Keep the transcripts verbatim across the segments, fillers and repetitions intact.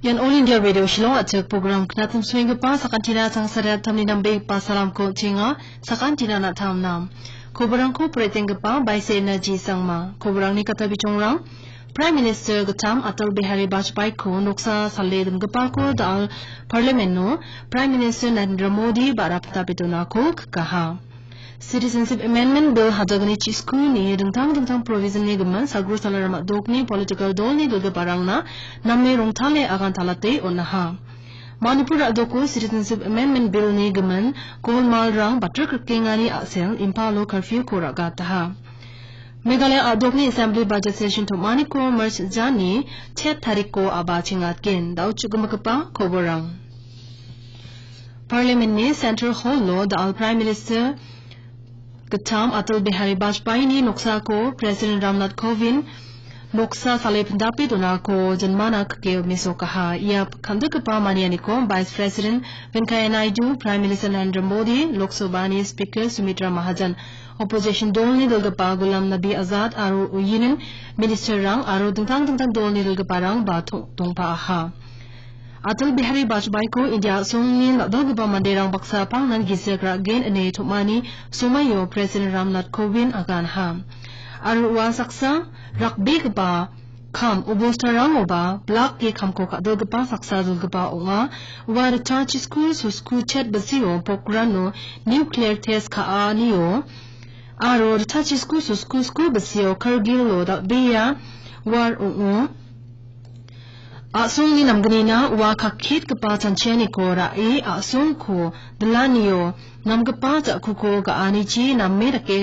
Ian All India Radio Shillong a·chik program knatim suenggipa sakantina tangsariattamni nambegipa salamko chenga, sakantina na·tamnam. Koborangko poretenggipa Baise Energy Sangma. Koborangni kata bichongrang, Prime Minister gittam Atal Bihari Vajpayee-ko noksa sale dongipako da·al Parliament-o Prime Minister Narendra Modi ba·ra pindapidonako kikaha. Citizenship Amendment Bill hajalgni chiskuni dingtang dingtang provision-ni gimin sagro salaram a·dokni political dolni dilgiparangna name rongtale agantalate on·aha. Manipur a·doko Citizenship Amendment Bill-ni gimin golmalrang batrik rikengani a·sel Imphalo curfew-ko ra·gataha. Meghalaya a·dokni Assembly Budget Session tom·aniko March jani chet tarikko a·ba chengatgen. Da·o chu·gimigipa koborang. Parliament-ni Central Hall-o da·al Prime Minister gittam Atal Bihari Vajpayee-ni noksako President Ramnath Kovind noksa sale pindape donako jinmana kikeo mesokaha. Ia kandikgipa manianiko Vice President Venkaiah Naidu, Prime Minister Narendra Modi, Lok Sabha-ni Speaker Sumitra Mahajan, opposition dolni dilgipa Ghulam Nabi Azad aro Union Minister-rang aro dingtang dingtang dolni dilgiparang ba tong-, tongpaaha. Atal Bihari Vajpayee-ko India a·songni dal·dalgipa manderang baksa pangnan gisik ra·gen ine tom·ani somaio President Ramnath Kovind aganha. Aro ua saksa rakbegipa kam obostarangoba blak ge kamko ka·dalgipa saksa dilgipa ong·a. Ua ritchachisku sosku chet bisio Pokhrano nuclear test ka·anio aro ritchachisku sosku sku bisio Kargilo dal·bea war ong·o. A·songni namgnina ua kaketgipa chanchianiko ra·e a·songko dilanio namgipa ja·kuko ga·anichi name dake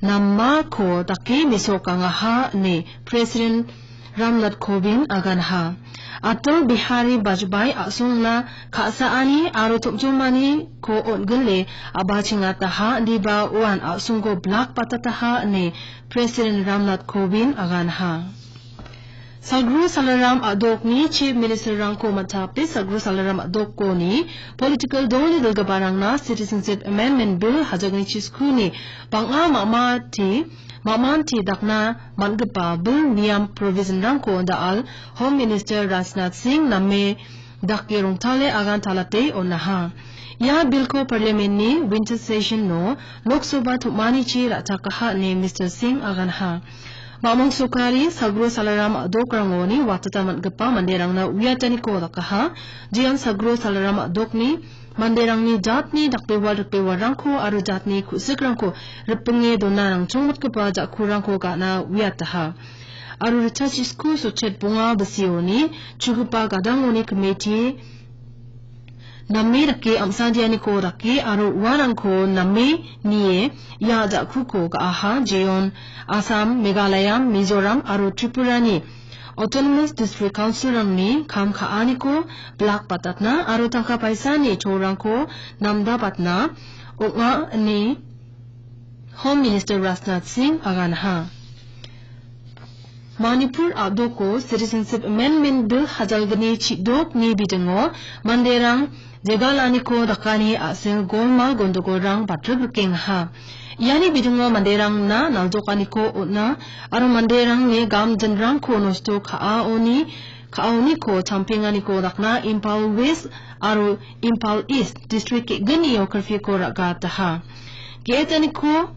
namako dake mesokangaha ine President Ramnath Kovind aganha. Atal Bihari Vajpayee a·songna ka·saani aro tom·jomaniko on·gile a·bachengataha indiba uan a·songko blak batataha ine President Ramnath Kovind aganha. Sagro salaram a·dokni Chief Minister-rangko man·tape sagro salaram a·dokoni political dolni dilgiparangna Citizenship Amendment Bill hajalgni chiskuni bang·a mamati, mamanti dakna man·gipa bil niam provision-rangko da·al Home Minister Rajnath Singh name dake rongtale agantalate on·aha. Ia bilko Parliament-ni winter session-o Lok Sabha tom·anichi ra·chakaha ine Mister Singh aganha. Mamung sokari sagro salaram a·dokrangoni watata man·gipa manderangna uiataniko dakaha. Jeon sagro salaram a·dokni manderangni jatni dakbewal rikbewarrangko aro jatni ku·sikrangko ripinge dona nangchongmotgipa ja·kurangko ga·na uiataha. Aro ritchachisku sochet bonga bisioni chugipa gadangoni komiti name dake am·sadianiko dake aro uarangko name nie ia ja·kuko ga·aha. Jeon Assam, Meghalaya, Mizoram aro Tripurani Autonomous District Council-rangni kam ka·aniko blak batatna aro tangka paisani cholrangko namdabatna ong·a ine Home Minister Rajnath Singh aganha. Manipur a·doko Citizenship Amendment Bill hajalgni chidokni bidingo manderang jegalaniko dakani a·sel golmal gondogolrang batrik rikengaha. Iani bidingo manderangna naljokaniko on·a aro manderangni gamjinrangko nosto ka·aoni ka·aoniko champenganiko dakna Imphal West aro Imphal East District ge·gnio curfew-ko ra·gataha. Ge·etaniko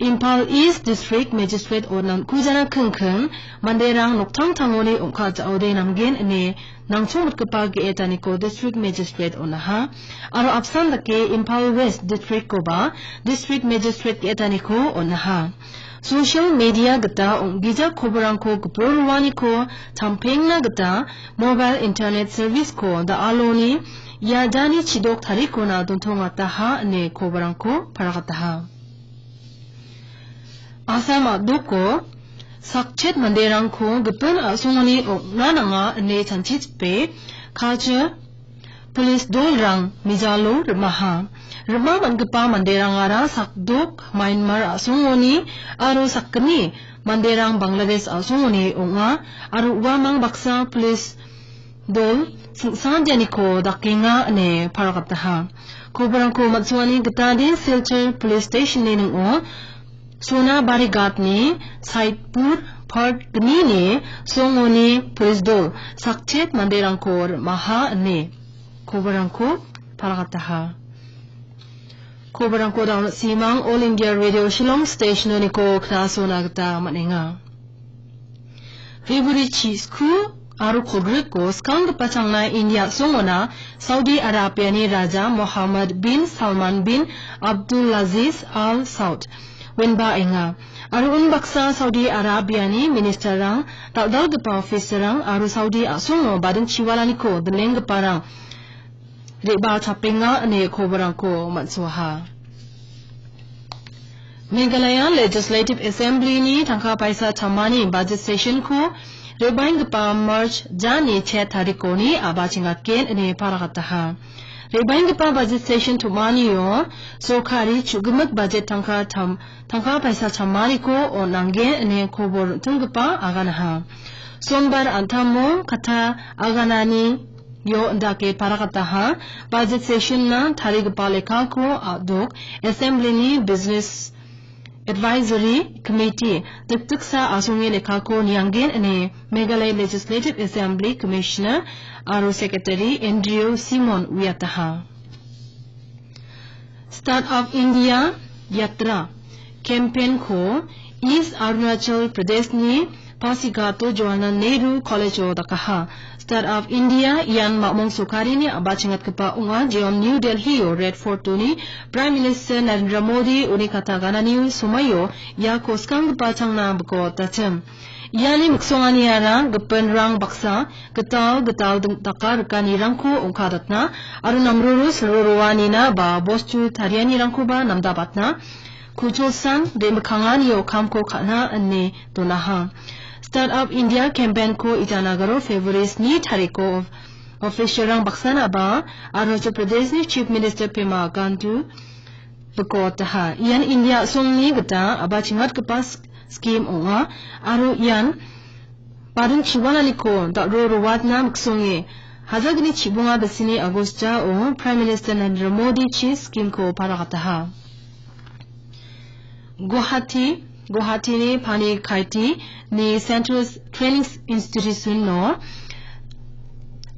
Imphal East District Magistrate-o nangkujana kingking manderang noktangtangoni ong·ka ja·ode namgen ine nangchongmotgipa ge·etaniko District Magistrate on·aha. Aro apsan dake Imphal West District-koba District Magistrate ge·etaniko on·aha. Social media gita ong·gija koborangko gipin roaniko champengna gita mobile internet service-ko da·aloni iadani chidok tarikona dontongataha ine koborangko paragataha. Assam a·doko sakchet manderangko gipin a·songoni ong·na nanga ine chanchichipe kacha Police dolrang mijalo rimaha. Rima man·gipa manderangara sakdok Myanmar a·songoni aro sakgni manderang Bangladesh a·songoni ong·a aro uamang baksa police dol singsanjaniko dakenga ine paragataha. Koborangko man·suani gitade Silchar Police Station-ni ning·o Sonabari Ghat-ni Saitpur Hart gnini songoni pulisdol sakchet manderangko rim·aha ine koborangko palakataha. Koborangko daun simang All India Radio Shillong Stationoniko knasona gita man·enga. February chi sku aro kolgriko skanggipa changna India songona Saudi Arabiani Raja Mohammed bin Salman bin Abdulaziz Al Saud wenba enga. Aro unbaksa Saudi Arabiani ministerrang, dal·dalgipa officerrang aro Saudi a·songo bading chiwalaniko dilenggiparang re·bachapenga ine koborangko man·soaha. Meghalaya Legislative Assemblyni tangka paisa chamani budget sessionko re·baenggipa March jani chet tarikoni a·bachengatgen ine parakataha. Re·baenggipa budget session tom·anio sorkari chu·gimik budget tangka tam-, tangka paisa chamaniko on·anggen ine kobor rim·tinggipa aganaha. Sombar an·tamo katta agananio indake parakataha. Budget sessionna tarigipa lekako a·dok Assemblyni Business Advisory Committee dikdiksa asonge lekako nianggen ine Meghalaya Legislative Assembly Commissioner aro Secretary Andrew Simon uiataha. Start Up India Yatra campaign-ko East Arunachal Pradeshni Pasighato Jawaharlal Nehru College-o dakaha. Start Up India ian mamong sorkarini a·bachengatgipa ong·a, jeon New Delhi-o Red Fort-oni Prime Minister Narendra Modi uni kataganani somaio iako skanggipa changna biko dachim. Iani miksonganiara gipinrang baksa gital gital ding-, daka rikanirangko ongkadatna aro namroro silroroanina ba bostu tarianirangkoba namdabatna, kucholsan re·mikkanganio kamko ka·na ine donaha. Start Up India campaign-ko Itanagar-o February sni tariko official-rang baksanaba Arunachal Pradeshni Chief Minister Pema Khandu bikotaha. Ian India a·songni gita a·bachengatgipa s-, skim ong·a aro ian bading chiwalaniko dal·ro rowatna miksonge hajalgni chibonga bisini August-ao Prime Minister Narendra Modi-chi skim-ko parakataha. Guwahati, Guwahatini Pani Kaiti ni Central Training Institution-o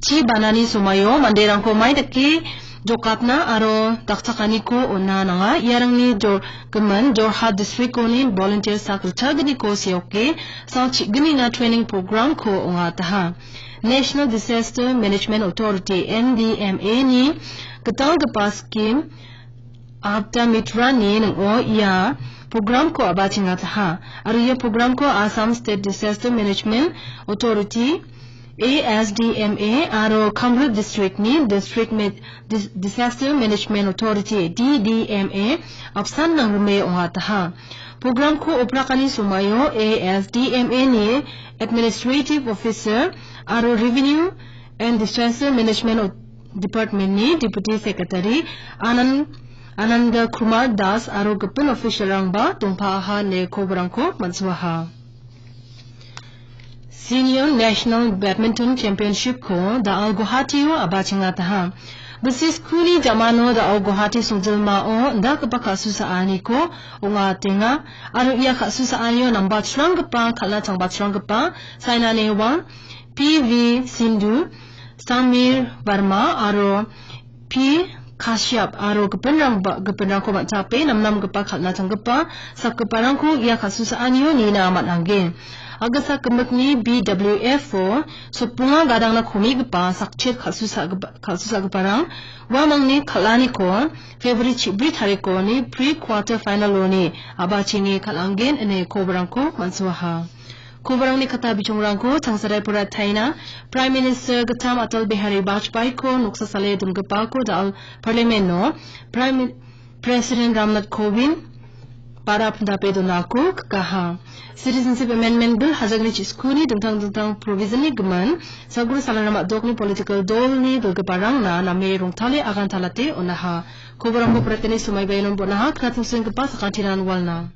chi banani somaio manderangko mai dake jokatna aro dakchakaniko on·na nanga. Iarangni jor-, gimin Jorhat district-oni volunteer sak ritchagniko seoke, sal chi·gnina training program-ko ong·ataha. National Disaster Management Authority, N D M A-ni gitalgipa skim Apta Mitrani ning·o ia program-ko a·bachengataha. Aro ia program-ko Assam State Disaster Management Authority, A S D M A, aro Kamrup District-ni District Ma-, Dis-, Disaster Management Authority, D D M A, apsan nangrime ong·ataha. Program-ko oprakani somaio A S D M A-ni Administrative Officer aro Revenue and Disaster Management Department-ni Deputy Secretary Anand, Ananda Kumar Das aro gipin official-rangba dongpaaha ine koborangko man·suaha. Senior National Badminton Championship-ko da·al Guwahati-o a·bachengataha. Bisi skuni jamano da·al Guwahati songjilmao indakgipa ka·susaaniko ong·atenga aro ia ka·susaanio namba chranggipa, kal·na changbachranggipa Saina Nehwal, P V Sindhu, Samir Verma aro P Kashyap aro gipinrangba-, gipinrangko man·chape namnamgipa kal·na changgipa sakgiparangko ia ka·susaanio nina man·angen. Agisa gimikni B W F-o sotbonga gadangna komigipa sakchet kal·susagipa-, kal·susagiparang uamangni kal·aniko February chibri tarikoni pre-quarter final-oni a·bachenge kal·angen ine koborangko man·suaha. Koborangni kata bichongrangko changsarai porataina Prime Minister Gittam Atal Bihari Vajpayee-ko noksa sale dongipako da·al Parliament-o Prime Mi-, President Ramnath Kovind ba·ra pindape donako kikaha. Citizenship Amendment Bill hajalgni chi skuni dingtang dingtang provision-ni gimin, sagru salangrama dokni political dolni bilgiparangna name rongtale agantalate on·aha. Koborangko poratani somaiba iano bon·aha, knatna senggipa sakantinan walna.